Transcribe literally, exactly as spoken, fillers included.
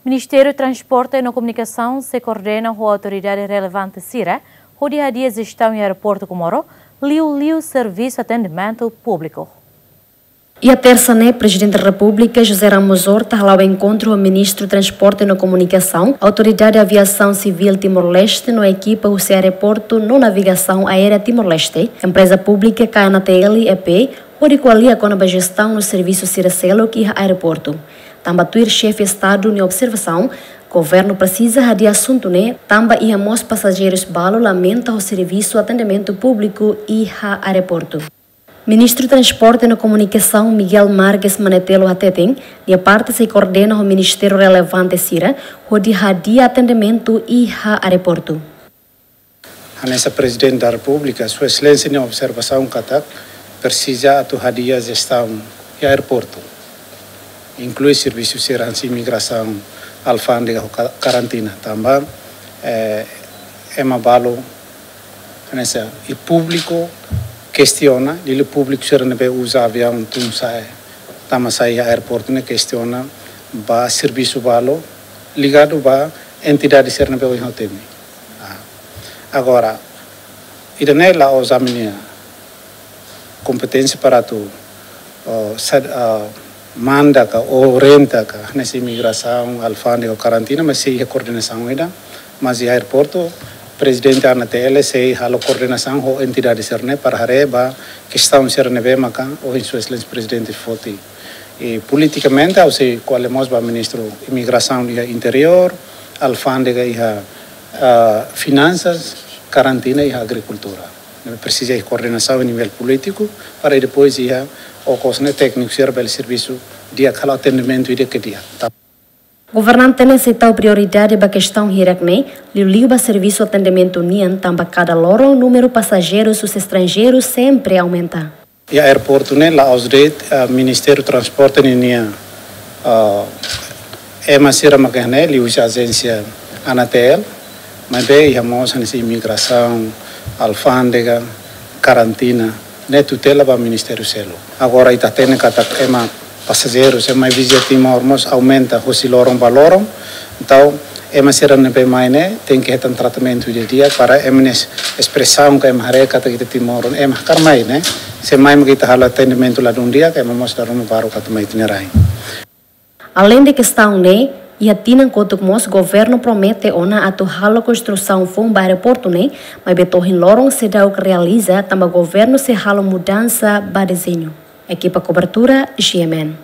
Ministériu Transporte no Komunikasaun sei koordena ho autoridade relevante sira hodi hadi'a jestaun iha aeroportu Comoro, liuliu servisu atendimentu públiku. Iha tersa ne'e, Prezidente Repúblika José Ramos Horta hala'o enkontru ho Ministru Transporte no Komunikasaun, Autoridade Aviasaun Sivíl Timor-Leste no ekipa husi Aeroportu no Navegasaun Aérea Timor-Leste, Empreza Públika K N T L E P, hodi ko'alia kona-ba jestaun no servisu sira seluk iha aeroportu. Tanba tuir Xefe Estadu nia observasaun, governu presiza hadi'a asuntu ne'e, tanba iha mós pasajeirus balu lamenta ho servisu atendimentu públiku iha aeroportu. Ministru Transporte no Komunikasaun Miguel Marques Manetelo hateten, nia parte sei koordena ho ministériu relevante sira hodi hadi'a atendimentu iha aeroportu. Hanesan Prezidente da Repúblika, Sua Exelénsia nia observasaun katak presiza atu hadi'a jestaun iha aeroportu, inklui servisu sira hanesan imigrasaun, alfándega ho ka-, karantina. Tanba, eh, ema balu, hanesan, i públiku kestiona, liuliu públiku sira ne'ebé uza aviaun tun sa'e, tama sai iha aeroportu ne'e kestiona ba servisu balu ligadu ba entidade sira ne'ebé ohin ha'u temi. Ah, agora, ida-ne'e la'ós ami-nia kompeténsia para atu, oh, sad-, ah, manda ka orienta ka hanesan imigrasaun, alfándega, karantina, mas sei iha koordenasaun ida, mas iha aeroportu, Prezidente A N T L sei halo koordenasaun ho entidade sira-ne'e para haree ba kestaun sira ne'ebé maka ohin Sua Exelénsia Prezidente foti. I politikamente, ha'u sei ko'alia mós ba Ministru Imigrasaun iha Interiór, Alfándega iha, ah, Finansas, Karantina iha Agrikultura. Ne'e presiza iha koordenasaun nivel polítiku, para depois iha okos ne'e tékniku sira bele servisu di'ak, halo atendimentu di'ak ke di'ak. Ta- Governante ne'e sei tau prioridade ba kestaun hirak-ne'e, liuliu ba servisu atendimentu nian, tanba kada loron númeru pasajeirus husi estranjeiru sempre aumenta. Iha aeroportu ne'e la'ós de'it, ah, Ministériu Transporte ninia, ah, ema sira maka iha ne'e, liuhusi ajénsia A N T L, maibé iha mós hanesan imigrasaun, alfándega, karantina, ne'e tutela ba ministériu seluk. Agora ita hatene katak ema pasajeirus, ema vizita Timor mós aumenta husi loron ba loron. Entaun, ema sira ne'ebé mai ne'e tenke hetan tratamentu di'ak para ema nia espresaun ka ema haree katak ita Timor, ema hakarak mai ne'e. Se mai maka ita halo atendimentu ladún di'ak, ema mós dala ruma baruk atu mai ita-nia rain. Aleinde kestaun ne'e, iha tinan kotuk mós governu promete ona atu halo konstrusaun foun ba aeroportu ne'e, maibé to'o ohin loron seidauk realiza tanba governu sei halo mudansa ba dezeñu. Ekipa kobertura, G M N.